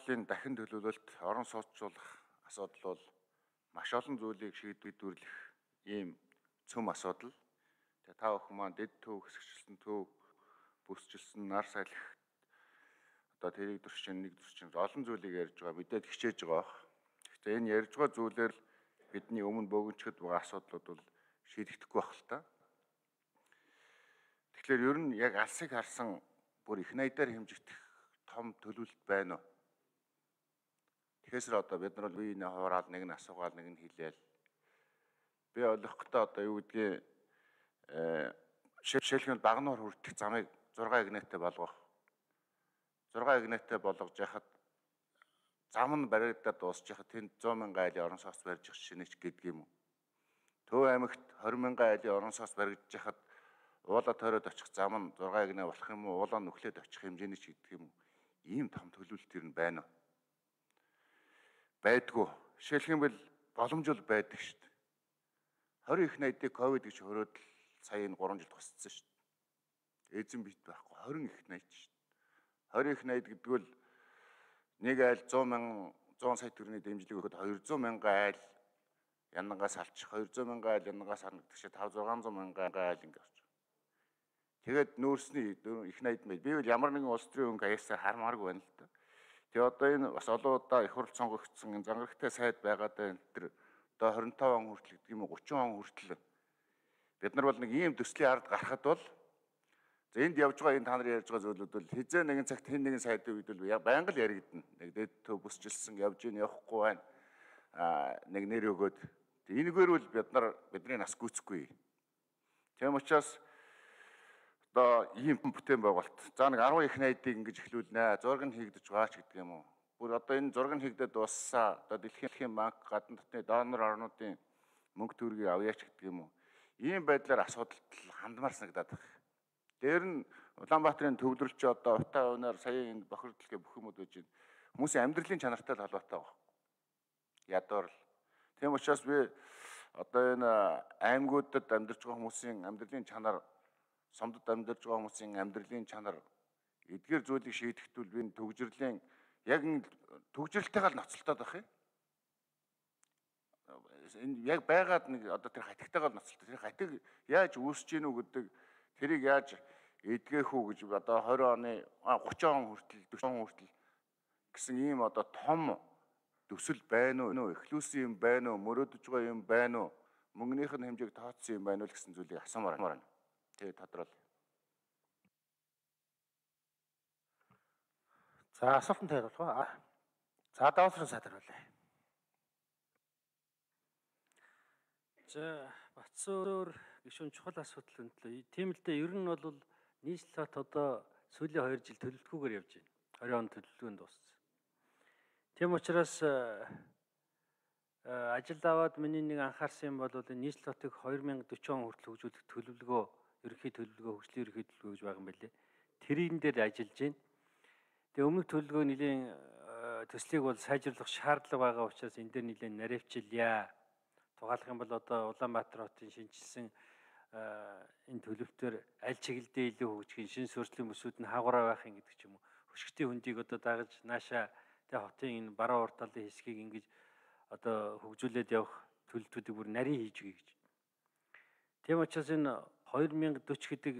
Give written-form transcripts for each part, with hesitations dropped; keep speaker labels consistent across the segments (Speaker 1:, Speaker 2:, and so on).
Speaker 1: бодлын дахин төлөвлөлт орон сууцлуулах асуудал бол маш олон зүйлийг шийдвэрлэх ийм цөм асуудал. Тэгээ та бүхэн маань дэд төв, хэсэгчлэн төв, бүсчилсэн нар салхи одоо тэрийг төрчин нэг төрчин олон зүйлийг ярьж байгаа, мэдээд хичээж байгаа бах. Гэхдээ энэ ярьж байгаа зүйлээр л бидний өмнө бөгөнчөд байгаа асуудлууд бол шийдэгдэхгүй байх л та. Тэгэхээр ер нь яг алсыг харсан бүр их найдаар хэмжигдэх том төлөвлөлт байна уу? Тэгэхээр одоо бид нар үеийн хураал нэг нь асуугаал нэг нь хэлээл. Би ойлгохдоо одоо юу гэдгийг жишээлбэл Багнуур хүртэх замыг 6 игнэтэй болгох. 6 игнэтэй болгож яхад зам нь баригдаад дуусч яхад тэнд 100 мянган айлын орон сууц барьж шинэж гэдэг юм уу? Төв аймагт 20 мянган айлын орон сууц баригдаж яхад уулаа тойроод очих зам нь 6 игнэ болох юм уу? Уулаа нүхлээд очих хэмжээний ч гэдэг юм уу? Ийм том төлөвлөлт ер нь байна уу? Байдгүй. Жишээлбэл боломжтой байдаг шүү дээ. 20 их найдыг ковид гэж хөрөөд сая энэ 3 жил тусцсан шүү дээ. Эзэн бит байхгүй 20 их найд шүү дээ. 20 их найд гэдэг нь нэг айл 100 сая төгрөгийн дэмжлэг өгөхөд 200 мянган айл янангаас алчих, 200 мянган айл янангаас харагдах шиг 500-600 мянган айл ингэ авч. Тэгээд нүүрсний их найд мэд. Би бол ямар нэгэн улс төрийн хөнгө аясаар хармааргүй байна л да. Тэгээ одоо энэ бас олон удаа их хурл сонгогдсон энэ зангарагтай сайд байгаад энэ төр одоо 25 он хүртэл гэдэг юм уу 30 он хүртэл бид нар бол нэг ийм төслийн ард гарахад бол за энд явж байгаа энэ та нар ярьж байгаа зүйлүүд бол хизээ нэгэн цагт хэн нэгэн сайдын үед бол байнга л яригдана. Нэг дэд төв бүсчилсэн явж ийн явахгүй байна. Нэг нэр өгөөд энэгээр бол бидний нас гүйцэхгүй. Тийм учраас одоо ийм бүтээн байгуулалт. За нэг 10 их найдыг ингэж эхлүүлнэ. Зураг нь хийгдэж байгаа ч гэдэг юм уу. Бүр одоо энэ зураг нь хийгдээд дууссаа. Одоо Дэлхийн банк, гадна дотны донор орнуудын мөнгө төгрөгийг авъяач гэдэг юм уу. Ийм байдлаар асуудалд хандмаар санагдаад байна. Дээр нь Улаанбаатарын төвлөрч одоо утаа өнөр сая энэ бохирдлыг бүх юмуд байж байна. Хүмүүсийн амьдралын чанартай холбоотой байна. Ядуур л. Тийм учраас би одоо энэ аймагуудад амьдарч байгаа хүмүүсийн амьдралын чанар, сомдод амьдарч байгаа хүмүүсийн амьдралын чанар эдгээр зүйлийг шийдэхдээ би төгжрлийн яг төгжрэлтэйгээ ноцтолтоод байх юм. Энэ яг байгаад нэг одоо тэр хатигтайгаа ноцтолтой. Тэр хатиг яаж үүсэж гинүү гэдэг тэрийг яаж эдгэх үү гэж одоо 20 оны 30 он хүртэл 40 он хүртэл гэсэн ийм одоо том төсөл байна уу? Эхлүүлсэн юм байна уу? Мөрөөдөж байгаа юм байна уу? Мөнгөнийх нь хэмжээг тооцсон юм байна уу гэсэн зүйлийг асуумаар байна. Тэгээ тодорхой.
Speaker 2: За асуултанд хариулах уу? За даалгаврын сайд хариулъя. За Батцөөр гишүүн чухал асуудал өндлөө. Тийм л дээ, ер нь бол нийслэлт одоо сүүлийн 2 жил төлөвлөгөөгөр явж байна. 20 он төлөвлөгөөнд дууссан. Тийм учраас ажил аваад миний нэг анхаарсан юм бол нийслэлтийг 2040 он хүртэл хөгжүүлэх төлөвлөгөө, ерөнхий төлөвлөгөө, хөгжлийн ерөнхий төлөвлөгөө гэж байгаа юм байна лээ. Тэрийн дээр ажиллаж байна. Тэгээ өмнөх төлөвлөгөө нэлийн төслийг бол сайжруулах шаардлага байгаа учраас энэ дээр нэлийн наривчилъя. Тухайлах юм бол одоо Улаанбаатар хотын шинжилсэн энэ төлөвтөр аль чиглэлдээ илүү хөгжих, шинэ суурьшлийн бүсүүд нь хаагураа байх юм гэдэг ч юм уу. Хөшгтийн хөндийг одоо дагаж наашаа тэгээ хотын энэ баруун урт талын хэсгийг ингэж одоо хөгжүүлээд явах төлөвлөлтүүдийг бүр нарийн хийж өгье гэж. Тийм учраас энэ 2040 гэдэг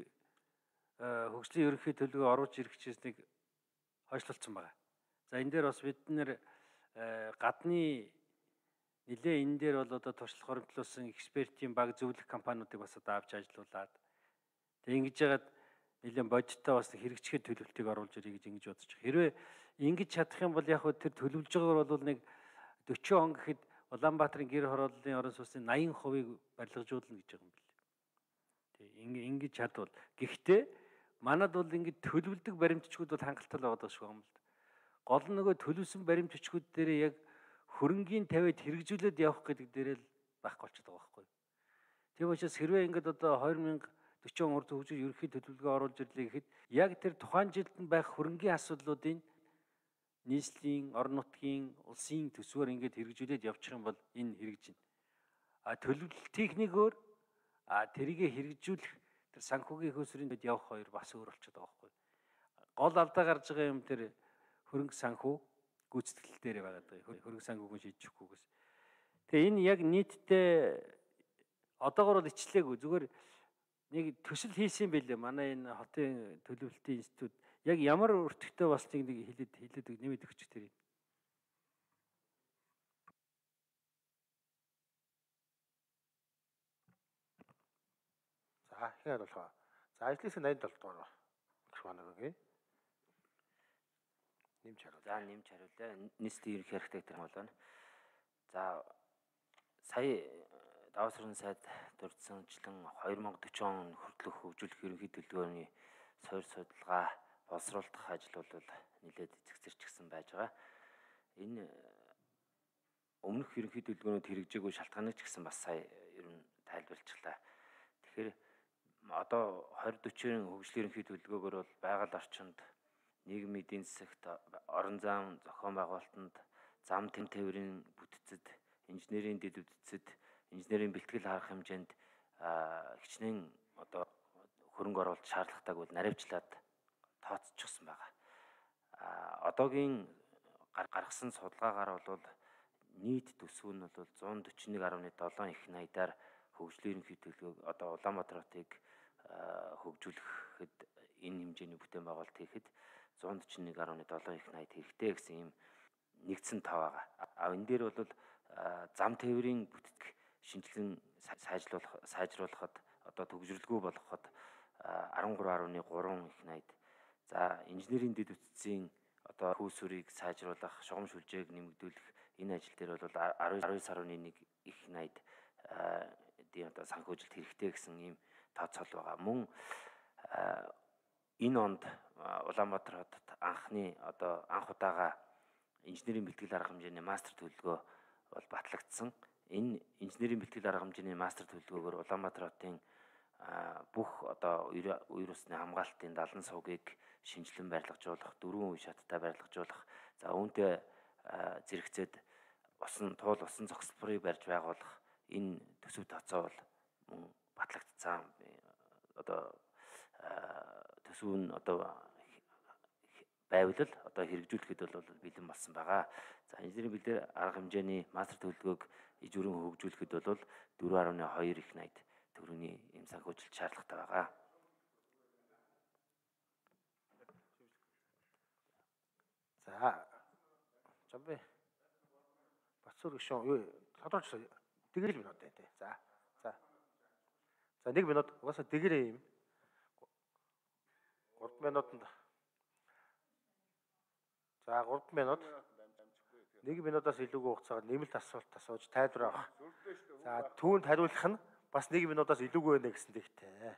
Speaker 2: хөгжлийн ерөнхий төлөвлөгөө оруулж ирэх чийснийг хойшлуулсан байна. За энэ дээр бас бид нэр гадны нэлээ энэ дээр бол одоо туршлага хоригдлуулсан экспертийн баг зөвлөх компаниудыг бас одоо авч ажилуулад тэг ингэж яагаад нэлээд бодиттой бас хэрэгжих төлөвлөлтийг оруулж ирье гэж ингэж бодож байгаа. Хэрвээ ингэж чадах юм бол яг хөө тэр төлөвлөж байгаагаар бол нэг 40 он гэхэд Улаанбаатарын гэр хорооллын орон сууцны 80%-ийг барилгажуулна гэж байгаа юм билээ. Тэг ингэж чадвал. Гэхдээ манад бол ингэж төлөвлөдөг баримтчгууд бол хангалттай л байгаа шүү юм л. Гол нь нөгөө төлөвсөн баримтчгууд дээр яг хөрөнгийн тавиад хэрэгжүүлээд явах гэдэг дээрээ л байхгүй болчиход байгаа байхгүй. Тийм учраас хэрвээ ингэж одоо 2040 он хүртэл хөгжил ерөнхий төлөвлөгөө оруулж ирлээ гэхэд яг тэр тухайн жилд нь байх хөрөнгийн асуудлуудын нийслэлийн, орон нутгийн, улсын төсвөөр ингэж хэрэгжүүлээд явчих юм бол энэ хэрэгжинэ. Төлөвлөлт техникээр тэрийг хэрэгжүүлэх тэр санхүүгийн хөөсрийн дэд явах хоёр бас өөр болчиход байгаа байхгүй. Гол алдаа гарч байгаа юм тэр хөрөнгө санхүү, гүйцэтгэл дээр байгаа даа. Хөрөнгө санхүүгийн шийдчихгүйгээс. Тэгээ энэ яг нийтдээ одоогор бол ичлээгүй. Зүгээр нэг төсөл хийсэн байлээ. Манай энэ хотын төлөвлөлтийн институт яг ямар өртөгтэй болсныг нэг хэлээд нэмээд өгч тэр.
Speaker 3: За хэн хариулах вэ? За ажлын хэсэг 87 дугаар гэх байна үгүй. Нэмж хариул.
Speaker 4: За нэмж хариулъя. Нийслэлийн ерөнхий архитектор болно. За сая Даваа сүрэн сайд дурдсанчлан 2040 он хүртэлх хөгжүүлэх ерөнхий төлөвлөгөөний суур судалгаа боловсруулах ажил бол нэлээд эцэгцэрчгсэн байж байгаа. Энэ өмнөх ерөнхий төлөвлөгөөнөд хэрэгжээгүй шалтгааныг ч гэсэн бас сая ер нь тайлбарлчихлаа. Тэгэхээр одоо 2040-ийн хөгжлийн ерөнхий төлөвлөгөөгөр бол байгаль орчинд, нийгмийн эдийн засагт, орон зайн зохион байгуулалтанд, зам тээврийн бүтцэд, инженерийн дэд үтцэд, инженерийн бэлтгэл харах хэмжээнд хичнээн одоо хөрөнгө оруулалт шаардлагатайг бол наривчлаад тооцчихсон байгаа. Одоогийн гаргасан судалгаагаар бол нийт төсөв нь бол 141.7 их найдаар хөгжлийн ерөнхий төлөвлөгөөг одоо Улаанбаатар хотыг хөгжүүлэхэд энэ хэмжээний бүтээн байгуулалт хийхэд 141.7 их найд хэрэгтэй гэсэн ийм нэгдсэн тав байгаа. Энэ дээр бол зам тээврийн бүтцийг шинжилэн сайжруулахад одоо төгсрөлгүй болгоход 13.3 их найд. За инженерийн дэд үтцийн одоо хүйсвэрийг сайжруулах, шугам шүлжээг нэмэгдүүлэх энэ ажил дээр бол 19.1 их найд одоо санхүүжилт хэрэгтэй гэсэн ийм тооцоол байгаа. Мөн энэ онд Улаанбаатар хотод анх удаага инженерийн бэлтгэл арга хэмжээний мастер төлөвлөгөө бол батлагдсан. Энэ инженерийн бэлтгэл арга хэмжээний мастер төлөвлөгөөгөр Улаанбаатар хотын бүх одоо үер усны хамгаалтын 70 сувгийг шинжилэн барилгажуулах, 4 үе шаттай барилгажуулах, за үүнтэй зэрэгцээд туул усан цогцлборыг барьж байгуулах энэ төсөв тооцоо бол мөн батлагдсан. Одоо төсөв нь одоо байвал одоо хэрэгжүүлэхэд бол бэлэн болсон байгаа. За инженерийн бэлтгэл арга хэмжээний мастер төлөвлөгөөг ижүүрэн хөгжүүлэхэд бол 4.2 их найд төгрөгийн эм санхүүжилт шаардлагатай байгаа.
Speaker 3: За Жамбай Бацуур гүшүүн юу тодорхойлж дэгэрэл минут тий. За 1 минут угаасаа дэгэрээ юм. 3 минутанд. За 3 минут. 1 минутаас илүүгүй хугацаагаар нэмэлт асуулт асууж тайлбар авах. За түүнд хариулах нь бас 1 минутаас илүүгүй байна гэсэн дэгтэй.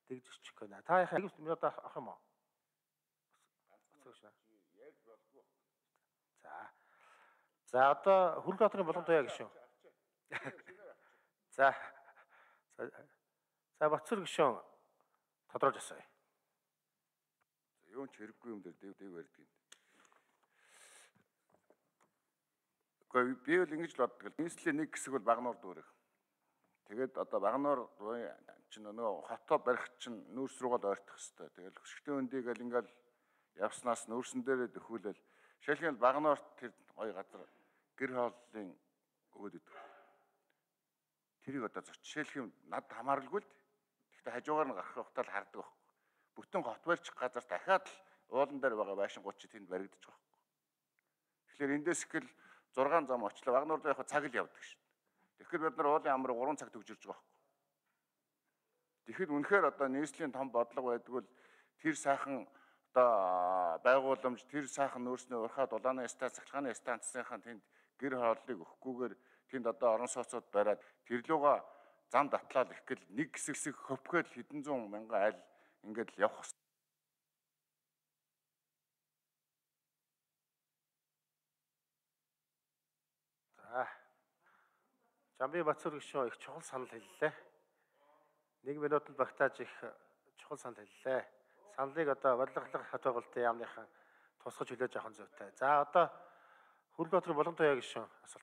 Speaker 3: Дэгж өччих гэнэ. Та яхаа 1 минутаас авах юм уу? За одоо Хүлбаатарын боломжтой гişүн. За Бацуур гişүн тодорхойлж асууя.
Speaker 1: Юу ч хэрэггүй юм дээр дэв барьдаг юм. Гэхдээ би бол ингэж л боддог. Нийслэлийн нэг хэсэг бол Багнуур дүүрэг. Тэгээд одоо Багнуур чинь нөгөө хотоо барих чинь нүүрс рүүгээ ойртох хэвээр. Тэгэл хөшгтэй өндийг л ингээл явснаас нүүрсэн дээрээ дөхүүлэл. Жишээлбэл Багнуурт тэр гоё газар гэр хооллын өгөөд өгдөг. Тэрийг одоо зөрчилөх юм над хамааралгүй л. Гэхдээ хажуугаар нь гарах ухтаал хардаг байхгүй. Бүтэн хот барьчих газар дахиад л уулан дээр байгаа байшингууд чи тэнд баригдаж байгаа байхгүй. Тэгэхээр эндээс ихэл 6 зам очлоо. Багнуур яг цаг л явдаг шүү дээ. Тэгэхээр бид нар уулын амрыг 3 цаг төгжирж байгаа байхгүй. Тэгэхэд үнэхээр одоо нийслэлийн том бодлого байдгүй л тэр сайхан одоо байгууламж, тэр сайхан нөөцний урхаа дулааны станц, цахилгааны станцынхаа тэнд гэр хооллыг өгөхгүйгээр тэнд одоо орон сууцуд бариад тэрлүүгээ зам татлал их гэл нэг хэсэг хөвгөөл хэдэн зуун мянган айл ингээд л явах.
Speaker 3: За Жамбай Бацуур гишүүн их чухал санал хэллээ. 1 минутанд багтааж их чухал санал хэллээ. Саналыг одоо бодлоготлох хот байгуулалтын яамныхан тусгаж хүлээж авах нь зүйтэй. За одоо Хүлбаатарын боломжтой гишүүн асуулт.